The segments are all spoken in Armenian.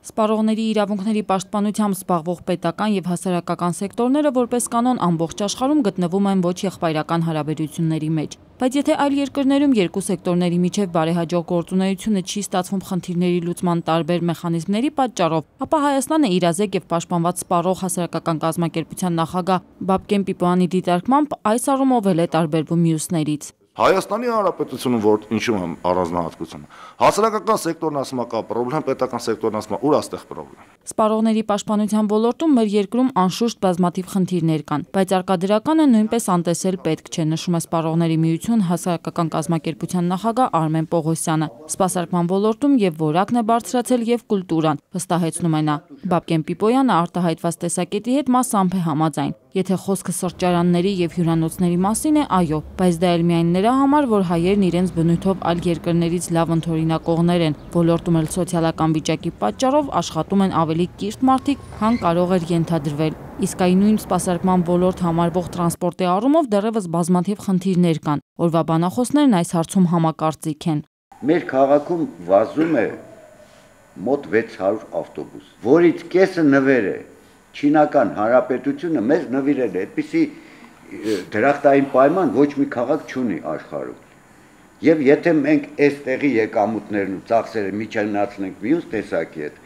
Սպառողների իրավունքների պաշտպանությամբ զբաղվող պետական եւ հասարակական սեկտորները որպես կանոն ամբողջ աշխարհում գտնվում են ոչ եղբայրական հարաբերությունների մեջ։ Բայց եթե այլ երկրներում երկու սեկտորների միջև բարեհաջող գործունեությունը չի ստացվում խնդիրների լուծման տարբեր մեխանիզմների պատճառով, ապա Հայաստանը իրազեկ եւ պաշտպանված սպառող հասարակական կազմակերպության նախագահ Բաբկեն Պիպոյանի դիտարկմամբ այս առումով էլ է տարբերվում մյուսներից։ Հայաստանի Հանրապետությունում որ ինչու եմ առանձնահատկությունը, հասարակական սեկտորն ասում է կա պրոբլեմ, պետական սեկտորն ասում է ուր աստեղ պրոբլեմ։ Սպառողների պաշտպանության ոլորտում մեր երկրում անշուշտ բազմաթիվ խնդիրներ կան, բայց արկադրականը նույնպես անտեսել պետք չէ, նշում է Սպառողների միություն հասարակական կազմակերպության նախագահ Արմեն Պողոսյանը։ Սպասարկման ոլորտում եւ որակն է բարձրացել եւ կուլտուրան, վստահեցնում է նա։ Բաբկեն Պիպոյանը արտահայտված տեսակետի հետ մասամբ է համաձայն։ Եթե խոսքը սրճարանների եւ հյուրանոցների մասին է, այո, բայց դա էլ միայն նրա համար, որ հայերն իրենց բնույթով այլ երկրներից լավ ընդօրինակողներ են, ոլորտում էլ սոցիալական վիճակի պատճառով աշխատում են ավելի կիրթ մարդիկ, քան կարող էր ենթադրվել։ Իսկ այն նույն սպասարկման ոլորտ համարվող տրանսպորտի առումով դեռևս բազմաթիվ խնդիրներ կան։ Օրվա բանախոսներն այս հարցում համակարծիք են։ Մեր քաղաքում վազում է մոտ 600 ավտոբուս, որից կեսը նվեր է։ Չինական հանրապետությունը մեզ նվիրել է, այդպիսի դրախտային պայման ոչ մի քաղաք չունի աշխարհում։ Եվ եթե մենք այստեղի եկամուտներն ու ծախսերը միջանացնենք մյուս տեսակի հետ,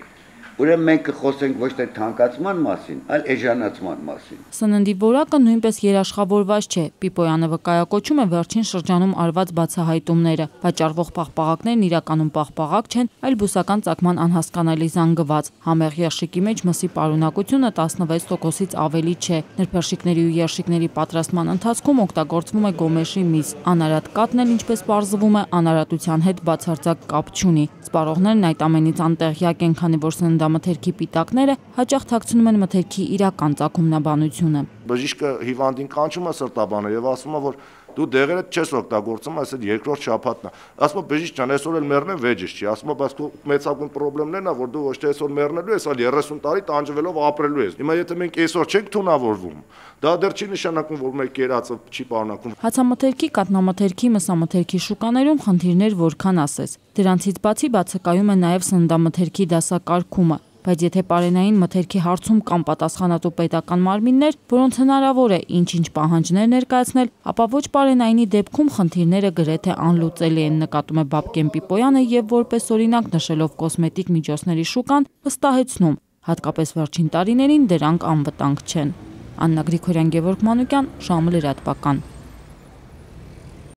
ուրեմն մենք կխոսենք ոչ թե թանկացման մասին, այլ էժանացման մասին։ Սննդի որակը նույնպես երաշխավորված չէ։ Պիպոյանը վկայակոչում է վերջին շրջանում արված բացահայտումները։ Վաճառվող պաղպաղակներն իրականում պաղպաղակ չեն, այլ բուսական ծագման անհասկանալի զանգված։ Համեղ երշիկի մեջ մսի պարունակությունը 16%-ից ավելի չէ։ Նրբերշիկների ու երշիկների պատրաստման ընթացքում օգտագործվում է գոմեշի միս։ Անարատ կաթն էլ, ինչպես պարզվում է, անարատության հետ բացարձակ կապ չունի։ Սպառողներն այդ ամենից անտեղյակ են, քանի որ սննդամթերքի պիտակները հաճախ թաքցնում են մթերքի իրական ծագումնաբանությունը։ Բժիշկը հիվանդին կանչում է սրտաբանը եւ ասում է, որ դու դեղերդ չես օգտագործում, այսինքն երկրորդ շաբաթն է։ Ասում է բժիշկ ջան, այսօր էլ մեռնեմ վեճից չի։ Ասում է, բայց քո մեծագույն խնդիրն է, որ դու ոչ թե այսօր մեռնելու ես, այլ 30 տարի տանջվելով ապրելու ես։ Հիմա եթե մենք այսօր չենք թունավորվում, դա դեռ չի նշանակում, որ մեր կերածը չի պարունակում։ Հացամթերքի, կաթնամթերքի, մսամթերքի շուկաներում խնդիրներ որքան ասես։ Դրանցից բացի բացակայում է նաև սննդամթերքի դասակարգումը։ Բայց եթե պարենային մթերքի հարցում կան պատասխանատու պետական մարմիններ, որոնց հնարավոր է ինչ-ինչ պահանջներ ներկայացնել, ապա ոչ պարենայինի դեպքում խնդիրները գրեթե անլուծելի են, նկատում է Բաբկեն Պիպոյանը եւ որպես օրինակ նշելով կոսմետիկ միջոցների շուկան, վստահեցնում, հատկապես վերջին տարիներին դրանք անվտանգ չեն։ Աննա Գրիգորյան, Գևորգ Մանուկյան, Շամը լրատվական։